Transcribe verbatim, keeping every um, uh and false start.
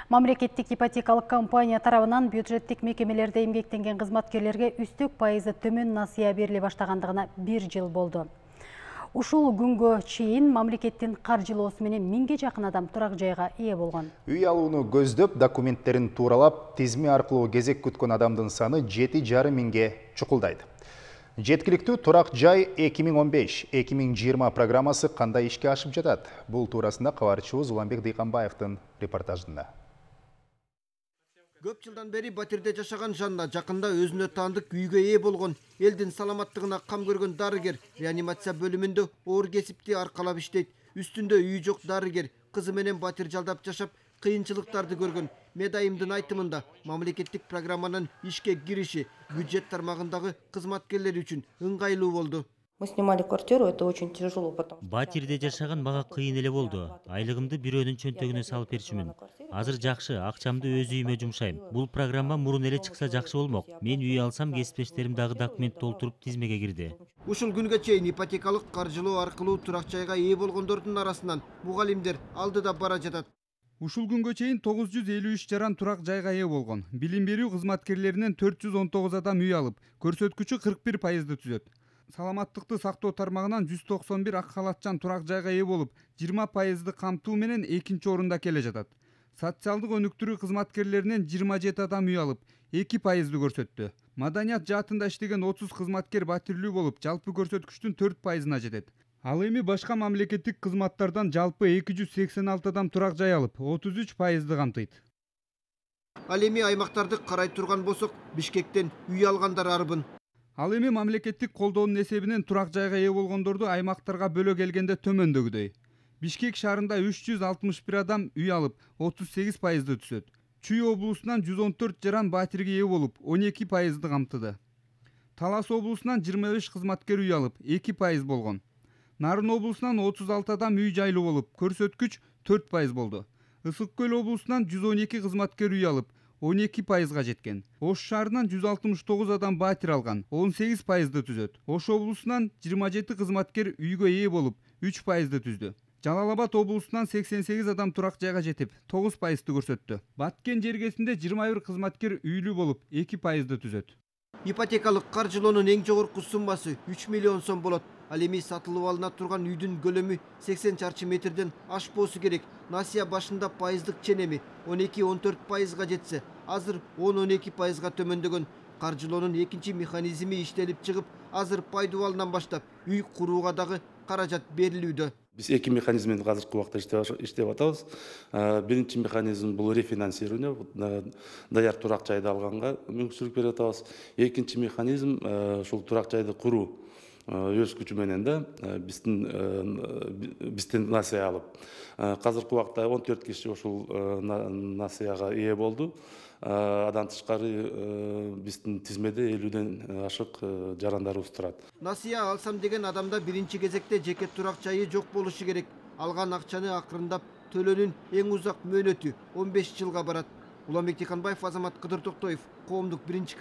Мамлекеттик ипотекалык компания тарабынан бюджеттик мекемелерде эмгектенген кызматкерлерге үстөк пайызы төмөн насыя бериле баштагандыгына бир жыл болду. Ушул күнгө чейин мамлекеттин каржылоосу менен миңге жакын адам турак жайга ээ болгон. Үй алууну көздөп, документтерин тууралап, тизме аркылуу кезек күткөн адамдын саны жети жарым миңге чукулдайт. Жеткиликтүү турак жай эки миң он беш — эки миң жыйырма программасы кандай ишке ашып жатат? Бул туурасында кабарчыбыз Уланбек Дыйканбаевдин репортажында. Көп жылдан бери батирде жашаган Жанна жакында өзүнө таандык үйгө ээ болгон. Элдин саламаттыгына кам көргөн дарыгер реанимация бөлүмүндө оор кесипти аркалап иштейт. Үстүндө үй жок дарыгер кызы менен батир жалдап жашап, кыйынчылыктарды көргөн. Медайымдын айтымында мамлекеттик программанын ишке кириши бюджет тармагындагы кызматкерлер үчүн ыңгайлуу болду. Мы снимали квартиру, это очень тяжело потом. Батирде жашаган мага кыйын эле болду. Айлыгымды бирөөнүн чөнтөгүнө салып берчүмүн. Азыр жакшы, акчамды өз үйүмө жумшайм. Бул программа мурун эле чыкса жакшы болмок. Мен үй алсам, кесиптештерим дагы документ толтуруп тизмеге кирди. Ушул күнгө чейин ипотекалык каржылоо аркылуу турак жайга ээ болгондордун арасынан мугалимдер алдыда бара жатат. Ушул күнгө чейин тогуз жүз элүү үч жаран турак жайга ээ болгон. Билим берүү кызматкерлеринен төрт жүз он тогуз адам үй алып, көрсөткүчү кырк бир пайызды түзөт. Саламаттыкты сактоо тармагынан жүз токсон бир ак халатчан турак жайга ээ болуп, жыйырма пайызды камтуу менен экинчи орунда келе жатат. Социалдык өнүктүрүү кызматкерлеринен жыйырма жети адам үй алып, эки пайызды көрсөттү. Маданият жаатында иштеген отуз кызматкер батирлүү болуп, жалпы көрсөткүчтүн төрт пайызына жетет. Ал эми башка мамлекеттик кызматтардан жалпы эки жүз сексен алты адам турак жай алып, отуз үч пайызды камтыйт. Ал эми аймактарды карай турган болсок, Бишкектен үй алгандар арбын. Ал эми мамлекеттик колдоонун эсебинен турак жайга ээ болгондорду аймактарга бөлө келгенде төмөндөгүдөй. Бишкек шаарында үч жүз алтымыш бир адам үй алып, отуз сегиз пайызды түзөт. Чүй облусунан жүз он төрт жаран батирге ээ болуп, он эки пайызды камтыды. Талас облусунан жыйырма беш кызматкер үй алып, эки пайыз болгон. Нарын облусунан отуз алты адам үй жайлуу болуп, көрсөткүч төрт пайыз болду. Ысык көл облусунан жүз он эки кызматкер үй алып, он эки пайызга жеткен. Ош шаарынан жүз алтымыш тогуз адам батир алган, он сегиз пайызды түзөт. Ош облусунан жыйырма жети кызматкер үйгө ээ болуп, үч пайызды түздү. Жалал Абад облусунан сексен сегиз адам турак жайга жетип, тогуз пайызды көрсөттү. Баткен жергесинде жыйырма бир кызматкер үйлүү болуп, эки пайызды түзөт. Ипотекалык каржылоонун эң жогорку суммасы үч миллион сом болот. Ал эми сатылып алына турган үйдүн көлөмү сексен чарчы метрден ашпоосу керек. Насыя башында пайыздык ченеми он эки он төрт пайызга жетсе, азыр он он эки пайызга төмөндөгөн. Каржылоонун экинчи механизми иштелип чыгып, азыр пайдубалынан баштап үй курууга дагы каражат берилүүдө. Биз эки механизм менен азыркы убакта иштеп атабыз. Биринчи механизм бул рефинансирование, даяр турак жайды алганга мүмкүнчүлүк берип атабыз. Экинчи механизм ушул турак жайды куруу өз күчү менен да биздин бизден насыя алып. Азыркы убакта он төрт киши ушул насыяга ээ болду. Адан тышкары биздин тизмеде элүүдөн ашык жарандарыбыз турат. Насыя алсам деген адамда биринчи кезекте жеке турак жайы жок болушу керек. Алган акчаны акырындап төлөөнүн эң узак мөөнөтү он беш жылга барат. Уланбек Дыйканбаев, Азамат Кыдыр Токтоев, Коомдук биринчи